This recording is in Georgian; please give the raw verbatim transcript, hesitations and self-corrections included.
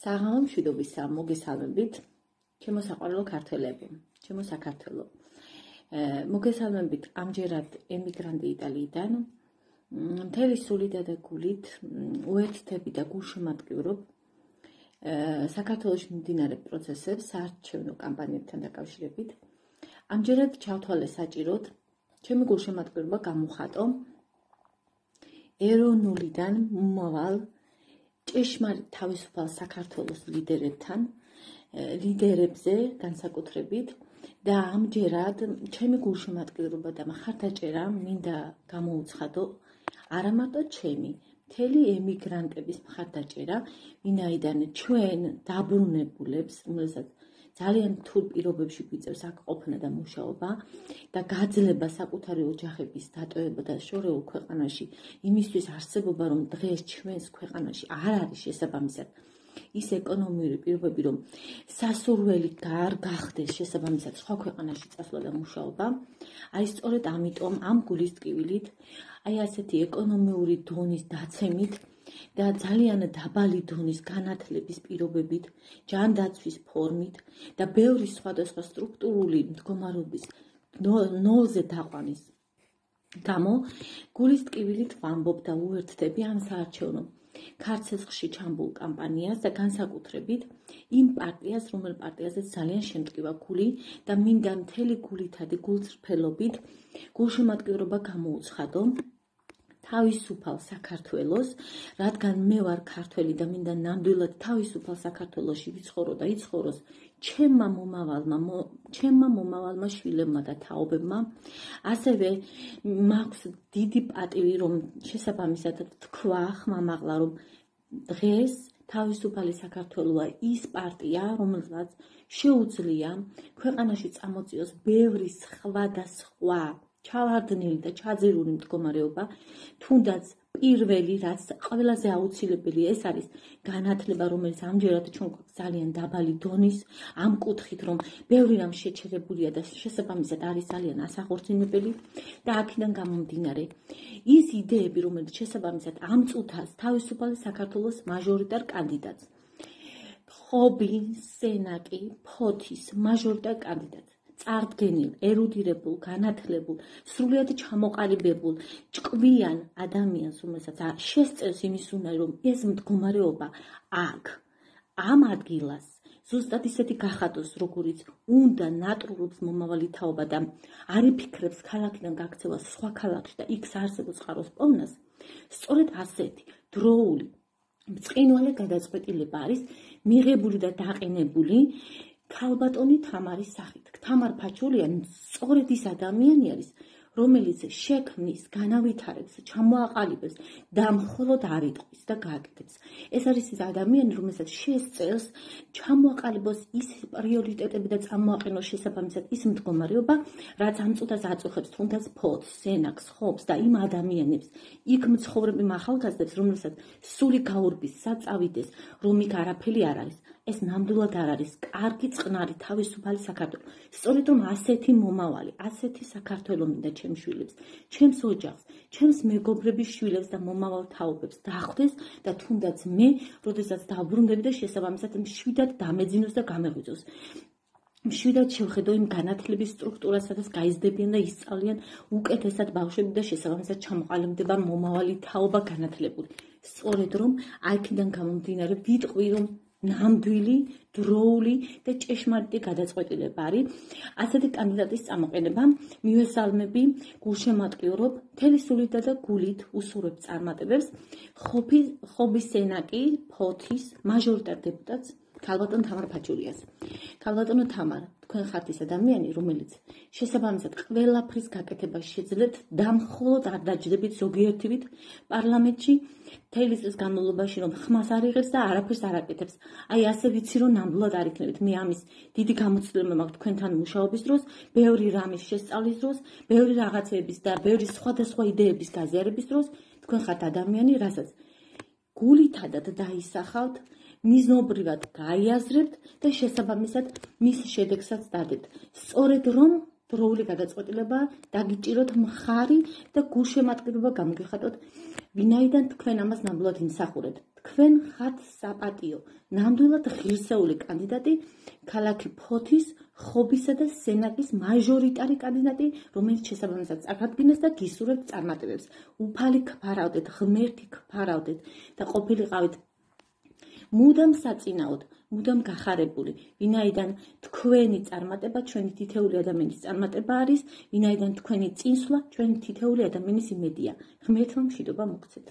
საღამო მშვიდობისა მოგესალმებით, ჩემო საყვარელო ქართველებო, ჩემო საქართველო. მოგესალმებით ამჯერად ემიგრანტი იტალიიდან, მთელი სულით და გულით უერთდები და გულშემატკივრობ საქართველოში მიმდინარე პროცესებს საარჩევნო კამპანიებთან დაკავშირებით. ამჯერად ჩავთვალე საჭიროდ ჩემი გულშემატკივრობა გამოვხატო ეროვნულიდან მომავალ ჭეშმარიტ თავისუფალ საქართველოს ლიდერებთან, ლიდერებზე განსაკუთრებით და ამჯერად ჩემი გულშემატკივრობა და მხარდაჭერა მინდა გამოუცხადო არა მარტო ჩემი, მთელი ემიგრანტების მხარდაჭერა, ვინაიდან ჩვენ დაბრუნებულებს, რომელსაც ძალიან რთულ პირობებში გვიწევს აქ ყოფნა და მუშაობა და გაძლება საკუთარი ოჯახების დატოვება და შორეულ ქვეყანაში იმისთვის არსებობა, რომ დღეს ჩვენს ქვეყანაში არ არის შესაბამისად ის ეკონომიური პირობები, რომ სასურველი არ გახდეს შესაბამისად სხვა ქვეყანაში წასვლა და მუშაობა. აი სწორედ ამიტომ ამ გულის ტკივილით, აი ასეთი ეკონომიური დონის დაცემით და ძალიან დაბალი დონის განათლების პირობებით, ჯანდაცვის ფორმით და ბევრი სხვადასხვა სტრუქტურული მდგომარეობის ნოლზე დაყვანის გამო გულის ტკივილით ვამბობ და უერთდები ამ საარჩევნო ქარცეცხლში ჩამბულ კამპანიას და განსაკუთრებით იმ პარტიას, რომელ პარტიაზეც ძალიან შემტკივა გული და მინდა მთელი გულითადი გულწრფელობით გულშემატკივრობა გამოუცხადო თავისუფალ საქართველოს, რადგან მე ვარ ქართველი და მინდა ნამდვილად თავისუფალ საქართველოში ვიცხოვრო და იცხოვროს ჩემმა მომავალმა, ჩემმა მომავალმა შვილებმა და თაობებმა. ასევე მაქვს დიდი პატივი, რომ შესაბამისად თქვა ხმამაღლა, რომ დღეს თავისუფალი საქართველოა ის პარტია, რომელსაც შეუძლია ქვეყანაში წამოწიოს ბევრი სხვადასხვა ჩავარდნილი და ჩაძირული მდგომარეობა, თუნდაც პირველი, რაც ყველაზე აუცილებელი, ეს არის განათლება, რომელიც ამჯერად ჩვენ გვაქვს ძალიან დაბალი დონის, ამ კუთხით, რომ ბევრი რამ შეჩერებულია და შესაბამისად არის ძალიან ასახორცინებელი და აქედან გამომდინარე ის იდეები, რომელიც შესაბამისად ამ წუთას თავისუფალი საქართველოს მაჟორიტარ კანდიდატს, ხობი, სენაკი, ფოთის მაჟორიტარ კანდიდატს, წარდგენილ, ერუდირებულ, განათლებულ, სრულიად ჩამოყალიბებულ, ჭკვიან ადამიანს, რომელსაც შესწევს იმის უნარი, რომ ეს მდგომარეობა აქ, ამ ადგილას, ზუსტად ისეთი გახადოს, როგორიც უნდა ნატრულობს მომავალი თაობა და არ იფიქრებს ქალაქიდან გაქცევას სხვა ქალაქში და იქ საარსებო წყაროს პოვნას, სწორედ ასეთი დროული, ბრწყინვალე გადაწყვეტილება არის მიღებული და დაყენებული ქალბატონი თამარის სახით. თამარ ფაჩულიანი სწორედ ის ადამიანი არის, რომელიც შექმნის, განავითარებს, ჩამოაყალიბებს და მხოლოდ არ იტყვის და გააკეთებს. ეს არის ის ადამიანი, რომელსაც შესწევს ჩამოაყალიბოს ის პრიორიტეტები და წამოაყენოს შესაბამისად ის მდგომარეობა, რაც ამ წუთას აწუხებს თუნდაც ფოთს, სენაკს, ხობს და იმ ადამიანებს, იქ მცხოვრები ახალგაზრდებს, რომელსაც სული გაურბის, საწავიდეს, რომ იქ არაფერი არ არის. ეს ნამდვილად არ არის კარგი წყნარი თავისუფალი საქართველო. სწორედ რომ ასეთი მომავალი, ასეთი საქართველო მინდა ჩემს შვილებს, ჩემს ოჯახს, ჩემს მეგობრების შვილებს და მომავალ თაობებს დახვდეს და თუნდაც მე, როდესაც დავბრუნდები და შესაბამისად მშვიდად დამეძინოს და გამეღვიძოს. მშვიდად შევხედო იმ განათლების სტრუქტურას, სადაც გაიზრდებიან და ისწავლიან უკეთესად ბავშვები და შესაბამისად ჩამოყალიბდება მომავალი თაობა განათლებული. სწორედ რომ აქედან გამომდინარე ვიტყვი, რომ ნამდვილი, დროული და ჭეშმარიტი გადაწყვეტილება არის ასეთი კანდიდატის წამოყენება. მივესალმები, გულშემატკივრობ, მთელი სულით და გულით უსურვებ წარმატებებს ხობის სენაკი, ფოთის მაჟორიტარ დეპუტატს ქალბატონ თამარ ფაჩულიას. ქალბატონო თამარ, თქვენ ხართ ის ადამიანი, რომელიც შესაბამისად ყველაფრის გაკეთებას შეძლებთ და მხოლოდ არ დაჯდებით ზოგიერთივით პარლამენტში მთელი წლის განმავლობაში, რომ ხმას არ იღებს და არაფერს არ აკეთებს. აი ასე ვიცი, რომ ნამდვილად არ იქნებით. მე ამის დიდი გამოცდილება მაქვს თქვენთან მუშაობის დროს, ბევრი რამის შესწავლის დროს, ბევრი რაღაცების და ბევრი სხვადასხვა იდეების გაზიარების დროს, თქვენ ხართ ადამიანი, რასაც გულითადად დაისახავთ, მიზნობრივად გაიაზრებთ და შესაბამისად მის შედეგსაც დადებთ. სწორედ რომ დროული გადაწყვეტილება დაგიჭიროთ მხარი და გულშემატკივრობა გამოგიხატოთ, ვინაიდან თქვენ ამას ნამდვილად იმსახურებთ. თქვენ ხართ საპატიო, ნამდვილად ღირსეული კანდიდატი, ქალაქი ფოთის, ხობისა და სენაკის მაჟორიტარი კანდიდატი, რომელიც შესაბამისად წარდგინეს და გისურვებთ წარმატებებს. უფალი გფარავდეთ, ღმერთი გფარავდეთ და ყოფილიყავით მუდამ საწინაოდ, მუდამ გახარებული, ვინაიდან თქვენი წარმატება ჩვენი თითეული ადამიანის წარმატება არის, ვინაიდან თქვენი წინსვლა ჩვენი თითეული ადამიანის იმედია. ღმერთმა მშვიდობა მოგცეთ.